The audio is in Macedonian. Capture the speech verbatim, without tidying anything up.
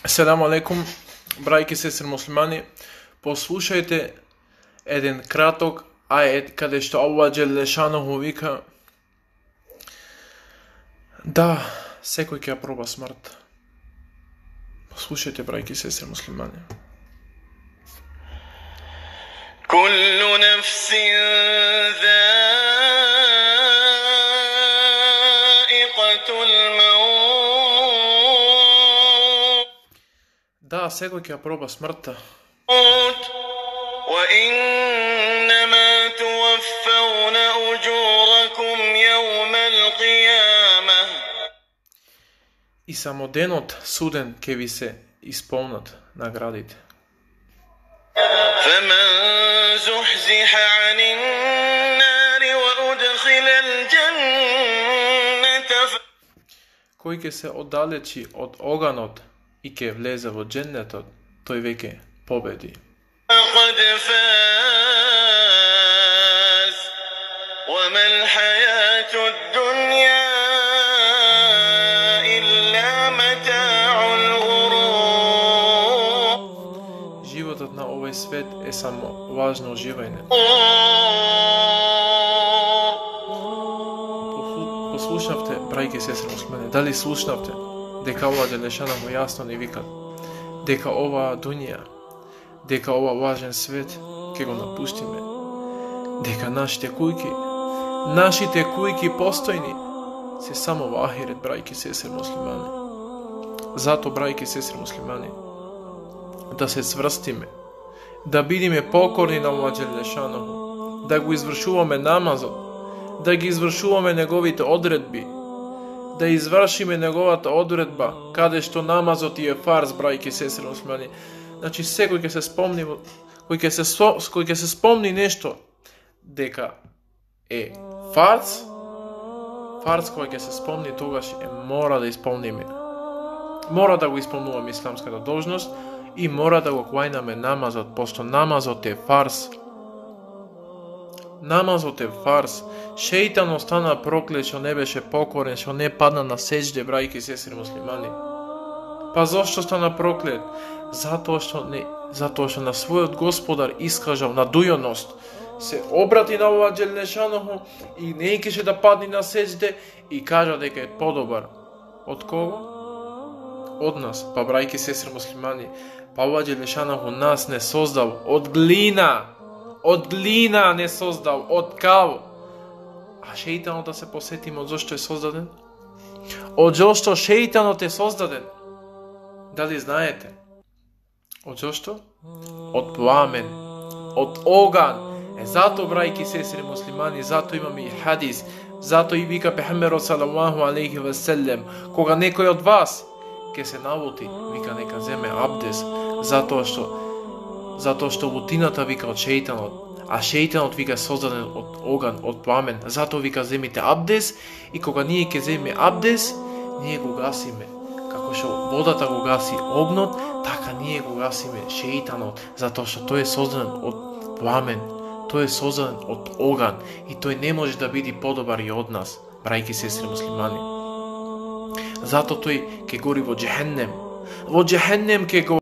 Селаму алейкум, брајки сестри муслимани. Послушајте еден краток ајет каде што Аллах џеле шануху вика: да, секој ќе ја проба смрт. Послушајте, брајки сестри муслимани. Куллу нефсин заиқатул маут. Да, секој ќе ја проба смртта. وإنما توفون أجوركم يوم القيامة. И само денот суден ќе ви се исполнат наградите. فمن زحزح عن النار وأدخل الجنة. Кој ќе се оддалечи од оганот и ќе влезе во џеннетот, тој веќе победи. فقد فاز وما الحياة الدنيا إلا متاع الغرور. Животот на овој свет е само важно уживање. Послушнавте, брајки сестри муслимани, дали слушнавте дека Аллах џеле шануху јасно ни вика дека оваа дуња, дека ова важен свет ќе го напуштиме, дека нашите кујки, нашите кујки постојни се само во ахирет, брајки сестри муслимани. Зато, брајки сестри муслимани, да се сврстиме, да бидиме покорни на Аллах џеле шануху, да го извршуваме намазот, да ги извршуваме неговите одредби, да извршиме неговата одредба, каде што намазот е фарз, брајки сестри муслимани. Значи секој ќе се спомни, кој ќе се кој ќе се спомни нешто дека е фарз, фарз кој ќе се спомни, тогаш е мора да исполниме. Мора да го исполнуваме исламската должност и мора да го клајнаме намазот, пошто намазот е фарз. Намазот е фарз. Шејтан остана проклет што не беше покорен, што не падна на сеџде, брајки сестри муслимани. Па зошто стана проклет? Затоа што не, затоа што на својот Господар искажал надујаност, се обрати на Аллах џеле шануху и не икеше да падне на сеџде и кажа дека е подобар. Од кого? Од нас. Па брајки сестри муслимани, па Аллах џеле шануху нас не создал од глина. Од глина не создал, од кал. А шејтанот, да се посетиме од зошто е создаден? Од зошто шејтанот е создаден? Дали знаете? Од зошто? Од пламен, од оган. Е зато, брајки сестри муслимани, зато имаме и хадис, зато и вика пехамберот салаллаху алейхи ве селем, кога некој од вас ќе се навоти, вика нека земе абдес, затоа што затоа што вутината вика од шејтанот, а шејтанот вика создаден од оган, од пламен. Затоа вика земите абдес и кога ние ќе земеме абдес, ние го гасиме. Како што водата го гаси огнот, така ние го гасиме шејтанот, затоа што тој е создаден од пламен, тој е создаден од оган и тој не може да биде подобар и од нас, брајки сестри муслимани. Затоа тој ќе гори во џехеннем, во џехеннем ќе го